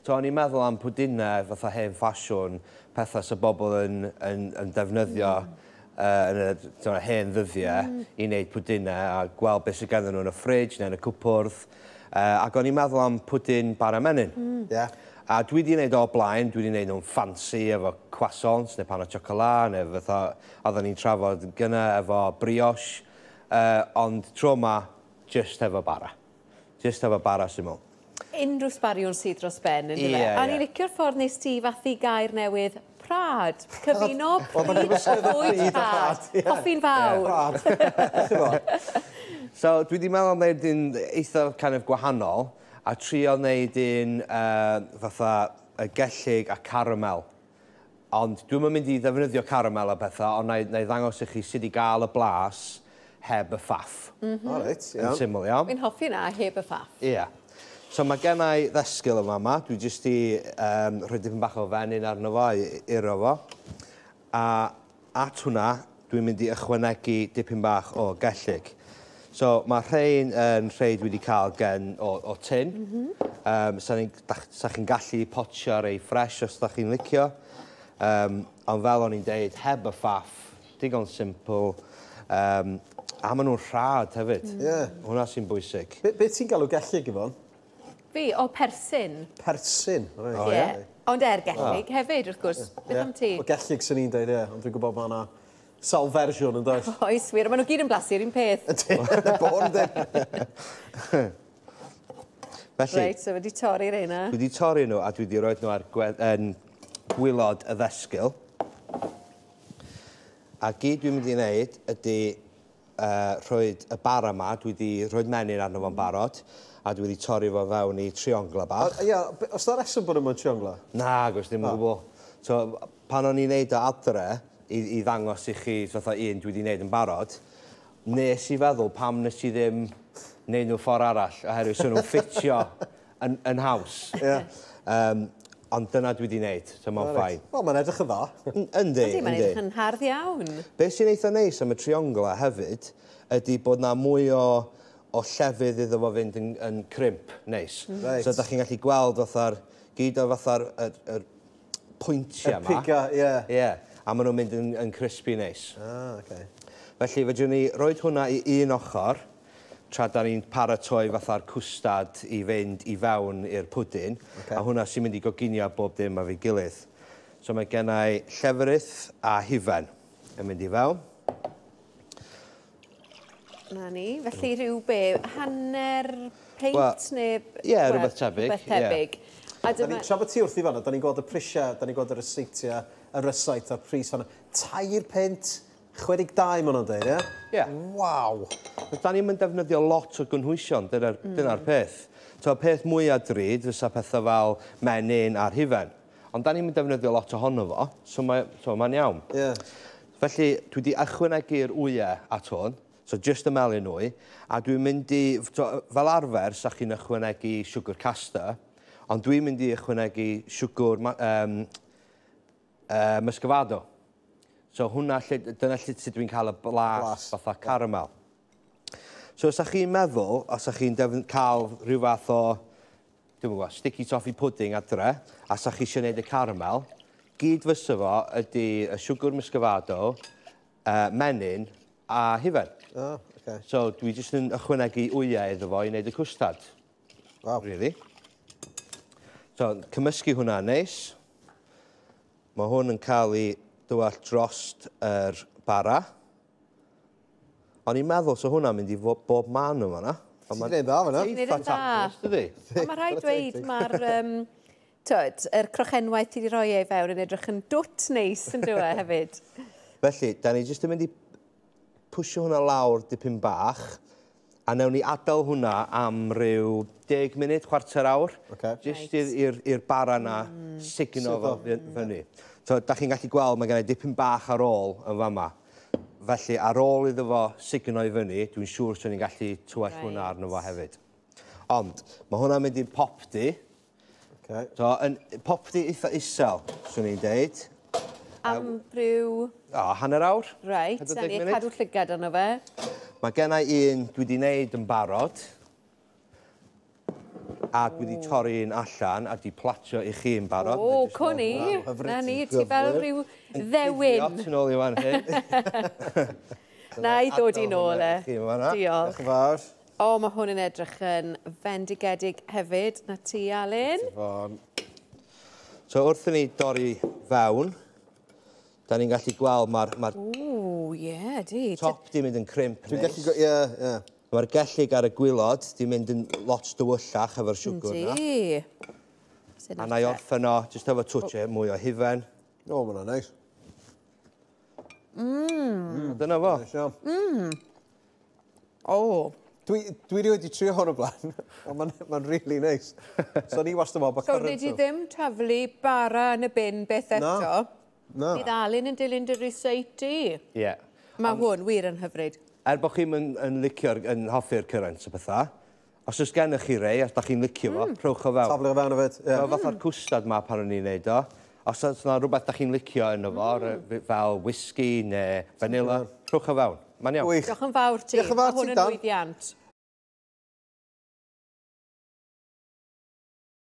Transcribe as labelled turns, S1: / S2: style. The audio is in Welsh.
S1: So o'n i'n meddwl am pwdinau fatha hen ffasiwn, pethau sy bobl yn defnyddio yn y hen ddyddiau i wneud pwdinau a gweld beth sydd ganddyn nhw yn y fridge neu yn y cwpwrdd. Ac o'n i'n meddwl am pwdin bara menyn. A dwi wedi gwneud o blaen, dwi wedi gwneud nhw'n ffansi efo croissants neu pan o chocolat neu fatha oedden ni'n trafod gynna efo brioche. Ond tro yma, just efo bara. Just efo bara syml.
S2: Unrhyw sbariwn sydd dros ben, yn dyfe?
S1: Ie.
S2: A ni'n licio'r ffordd nes ti fathu gair newydd, prad. Cyfuno pryd bwyd rhad. Hoffi'n fawr.
S3: Prad.
S1: So, dwi wedi meddwl am wneud un eitha kind of gwahanol a trio wneud un fatha y gellig a caramel. Ond dwi'm yn mynd i ddefnyddio caramel a pethau, ond na i ddangos i chi sut i gael y blas heb y ffaff.
S3: O, reit,
S1: Yn
S3: iawn.
S1: syml, iawn.
S2: Fi'n hoffi na heb y ffaff.
S1: Ie. So mae gen i ddesgyl yma yma. Dwi jyst i rhoi dipyn bach o fenyn arno fo i iro fo. A at hwnna, dwi'n mynd i ychwanegu dipyn bach o gellig. So mae rhain yn rhai dwi wedi cael gen o tin. Sa chi'n gallu potio rei ffres os da chi'n licio. Ond fel o'n i'n deud, heb y ffaff, digon simple. A maen nhw'n rhad hefyd. Hwnna sy'n bwysig.
S3: Be ti'n galw gellig, Yvonne?
S2: Fi, o persyn.
S3: Persyn. Reit.
S1: O, ie?
S2: Ond er gellig hefyd, wrth gwrs. Beth am ti?
S3: O gellig sy'n ni'n deud, ie. Ond dwi'n gwybod mae yna sawl fersiwn yn does.
S2: Oes, wir. Maen nhw gyd yn blasu'r un peth.
S3: Ydy, yn y bôn, ydy.
S1: Felly,
S2: Reit, so wedi torri'r reina.
S1: Dwi wedi torri nhw a dwi wedi rhoi nhw ar gwaelod y ddesgyl. A gyd dwi'n mynd i wneud ydy rhoi y bara yma, dwi wedi rhoi menyn arno fo'n barod, a dwi wedi torri fo fewn i triongla bach.
S3: Ie, oes 'na reswm bod nhw'n triongla?
S1: Na, gwrs ddim yn gwbl. So, pan o'n i'n neud o adre, i ddangos i chi fatha un dwi wedi wneud yn barod, nes i feddwl pam nes i ddim wneud nhw ffordd arall, oherwydd so nhw'n ffitio yn haws. Ond dyna dwi wedi wneud, so mae'n fine.
S3: Wel, mae'n edrych yn dda.
S1: Yndi,
S2: Yndi, mae'n
S1: yndi.
S2: edrych yn hardd iawn.
S1: Be sy'n eitha neis am y triongla hefyd ydy bod na mwy o llefydd iddo fo fynd yn crimp neis. So da chi'n gallu gweld fatha'r, gyd o fatha'r yr pwyntiau
S3: Y
S1: yma.
S3: piga, ie.
S1: Ie, a maen nhw'n mynd yn crispy neis.
S3: Ah, oce.
S1: Felly, fedrwn ni roed hwnna i un ochr, tra da ni'n paratoi fatha'r cwstad i fynd i fewn i'r pwdin, a hwnna sy'n mynd i goginio bob dim efo'i gilydd. So mae gen i llefrith a hufen yn mynd i fewn.
S2: Na ni, felly rhyw be, hanner peint
S1: Wel,
S2: neu...
S1: ie,
S2: wel,
S1: rhywbeth tebyg,
S2: Rhywbeth tebyg. A
S3: Da
S2: dyma...
S3: ni, tra bod ti wrthi fan'na, da ni'n gweld y prisiau, da ni'n gweld y ryseitiau, y rysait a'r pris fan'na. 3 punt 62 maen nhw'n dweud, ie?
S1: Ie.
S3: Waw!
S1: Da ni'n mynd defnyddio lot o gynhwysion, dyna'r dyna peth. So, y peth mwyaf drud fysa pethau fel menyn a'r hufen. Ond da ni'n mynd defnyddio lot ohono fo, so mae'n so iawn. Felly, dwi wedi ychwanegu'r wyau at hwn, so just y melyn wy, a dwi'n mynd i, so, fel arfer, sa chi'n ychwanegu siwgr castor, ond dwi'n mynd i ychwanegu siwgr muscovado. So hwnna, lle, dyna lle sut dwi'n cael y blas,
S3: Blas,
S1: fatha caramel. So os chi'n meddwl, os chi'n cael rhyw fath o, dwi'n gwybod, sticky toffee pudding adre, a sa chi eisiau gwneud y caramel, gyd fysa fo ydy y siwgr muscovado, menyn a hufen.
S3: Oh, okay.
S1: So dwi jyst yn ychwanegu wyau iddo fo i wneud y cwstad.
S3: Waw.
S1: Really. So, cymysgu hwnna neis. Mae hwn yn cael ei dywallt drost yr bara. O'n i'n meddwl, so hwnna'n mynd i fod bob man yma na.
S3: Ti'n gwneud dda fan'na.
S2: Ti'n gwneud yn
S1: Eitha
S2: dda.
S1: taclus, dydi?
S2: Ond mae rhaid dweud, mae'r tyd, yr crochenwaith ti wedi rhoi ei fewn yn edrych yn dwt neis yn dywe hefyd.
S1: Felly, da ni jyst yn mynd i pwysio hwnna lawr dipyn bach, a newn ni adael hwnna am ryw 10 munud, chwarter awr. Jyst i'r bara na sugno fo fyny. So, da chi'n gallu gweld, mae gen i dipyn bach ar ôl yn fama. Felly, ar ôl iddo fo sugno i fyny, dwi'n siŵr swn i'n gallu tywallt hwnna arno fo hefyd. Ond, mae hwnna'n mynd i'r popty. So, yn popty eitha isel, swn i'n deud.
S2: Am ryw...
S1: O, hanner awr.
S2: Reit, a
S1: 40
S2: ni
S1: munud.
S2: cadw llygad arno fe.
S1: Mae gen i un dwi wedi wneud yn barod. A dwi wedi torri un allan a di platio i chi yn barod.
S2: O, cwn i. Na ni, ti fel rhyw ddewin.
S1: Tu nôl i fan hyn.
S2: Na i ddod i nôl e. Diolch.
S3: Diolch yn fawr.
S2: O, mae hwn yn edrych yn fendigedig hefyd. Na ti, Alun.
S1: So, wrth i ni dorri fewn, da ni'n gallu gweld mae'r ma
S2: Ww, ie, di.
S1: Top di mynd yn crimp.
S3: Dwi'n gallu... Ie, ie.
S1: Mae'r gellyg ar y gwilod di mynd yn lot dywyllach efo'r siwgr na.
S2: Di.
S1: A na i orffen o, jyst efo twtio mwy o hufen.
S3: O, ma' hwnna'n neis.
S1: Dyna fo.
S3: Neis iawn.
S2: O.
S3: Dwi rioed wedi trio hwn o blaen, ond mae'n ma really neis. So ni wastad yn meddwl bod
S2: So, wnes i ddim taflu bara yn y bin beth eto.
S3: Na.
S2: Bydd Alun yn dilyn dy ryseit di.
S1: Ie.
S2: Mae hwn wir yn hyfryd.
S1: Er bod chi'n yn, yn licio'r, yn hoffi'r currants a pethau, os oes gennych chi rei, os da chi'n licio fo, rhowch o fewn.
S3: Taflu o fewn hefyd. Ie.
S1: Fel fatha'r cwstard ma pan o'n i'n neud o. Os oes yna rhywbeth da chi'n licio yno fo, fel whisky neu vanilla, rhowch o fewn. Mae'n iawn.
S3: Gwych.
S2: Diolch yn fawr ti.
S3: Diolch yn fawr
S2: Mae hwn
S3: ti,
S2: yn
S3: Dan.
S2: lwyddiant.